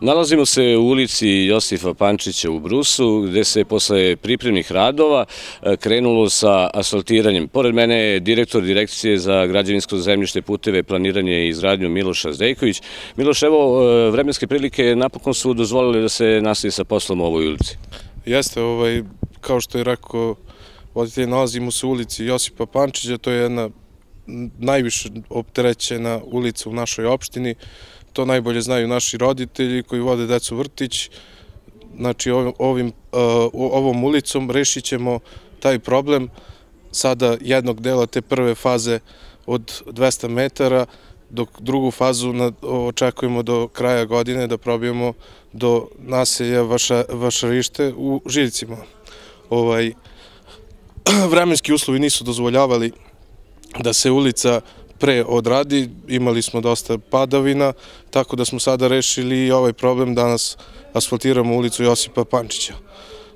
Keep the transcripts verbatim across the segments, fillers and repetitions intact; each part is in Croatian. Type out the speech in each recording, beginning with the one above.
Nalazimo se u ulici Josipa Pančića u Brusu, gde se posle pripremnih radova krenulo sa asfaltiranjem. Pored mene je direktor Direkcije za građevinsko zemljište, puteve, planiranje i izgradnju Miloš Zdejković. Miloš, evo, vremenske prilike napokon su dozvolili da se nastavi sa poslom u ovoj ulici. Jeste, ovaj, kao što je rekao voditelj, nalazimo se u ulici Josipa Pančića, to je jedna najviše opterećena ulica u našoj opštini. To najbolje znaju naši roditelji koji vode decu u vrtić. Znači, ovim, ovom ulicom rešit ćemo taj problem sada jednog dela te prve faze od dvesta metara, dok drugu fazu očekujemo do kraja godine da probijemo do naselja Vašarište u Žiljcima. Ovaj, vremenski uslovi nisu dozvoljavali da se ulica pre odradi, imali smo dosta padavina, tako da smo sada rešili i ovaj problem, danas asfaltiramo ulicu Josipa Pančića.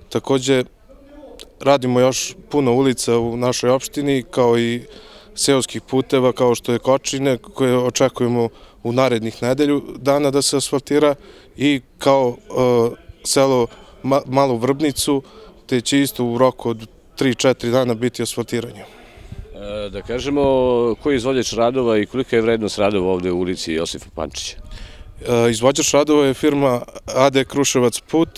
Takođe, radimo još puno ulica u našoj opštini, kao i seoskih puteva, kao što je Kočine, koje očekujemo u narednih nedelju dana da se asfaltira, i kao selo Malu Vrbnicu, te će isto u roku od tri četiri dana biti asfaltiranje. Da kažemo, koji je izvođač radova i kolika je vrednost radova ovde u ulici Josipa Pančića? Izvođač radova je firma A D Kruševac put,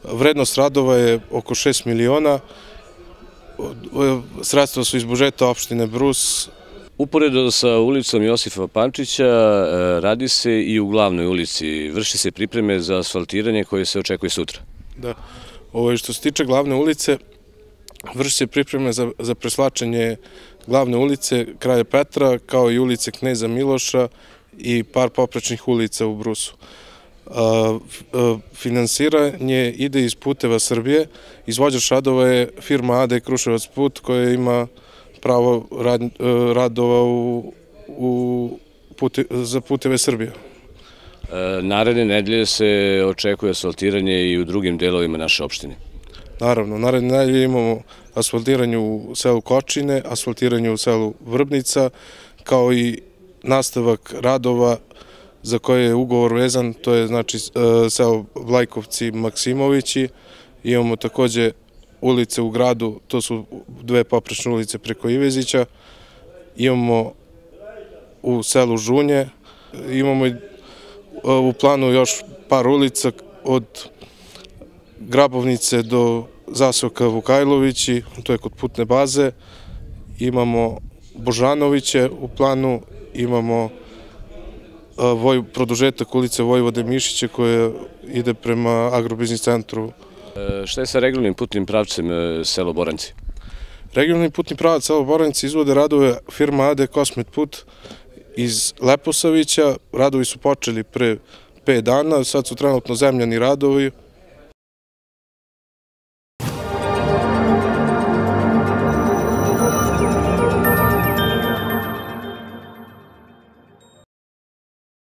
vrednost radova je oko šest miliona, sredstva su iz budžeta opštine Brus. Uporedo sa ulicom Josipa Pančića radi se i u glavnoj ulici, vrši se pripreme za asfaltiranje koje se očekuje sutra. Da, što se tiče glavne ulice, vrši se pripreme za preslačenje glavne ulice Kralja Petra, kao i ulice Kneza Miloša i par poprečnih ulica u Brusu. Finansiranje ide iz Puteva Srbije, izvođač radova je firma A D Kruševac put, koja ima pravo radova za Puteve Srbije. Naredne nedelje se očekuje asfaltiranje i u drugim delovima naše opštine. Naravno, naredne nedelje imamo asfaltiranje u selu Kočine, asfaltiranje u selu Vrbnica, kao i nastavak radova za koje je ugovor vezan, to je znači selo Vlajkovci Maksimovići. Imamo takođe ulice u gradu, to su dve poprečne ulice preko Ivezića. Imamo u selu Žunje, imamo u planu još par ulica od Grabovnice do Zasoka Vukajlovići, to je kod putne baze. Imamo Božanoviće u planu, imamo produžetak ulice Vojvode Mišića koja ide prema agrobiznis centru. Šta je sa regionalnim putnim pravcem selo Boranci? Regionalni putni pravac selo Boranci izvode radove firma A D Kosmet put iz Leposavića. Radovi su počeli pre pet dana, sad su trenutno zemljani radovi.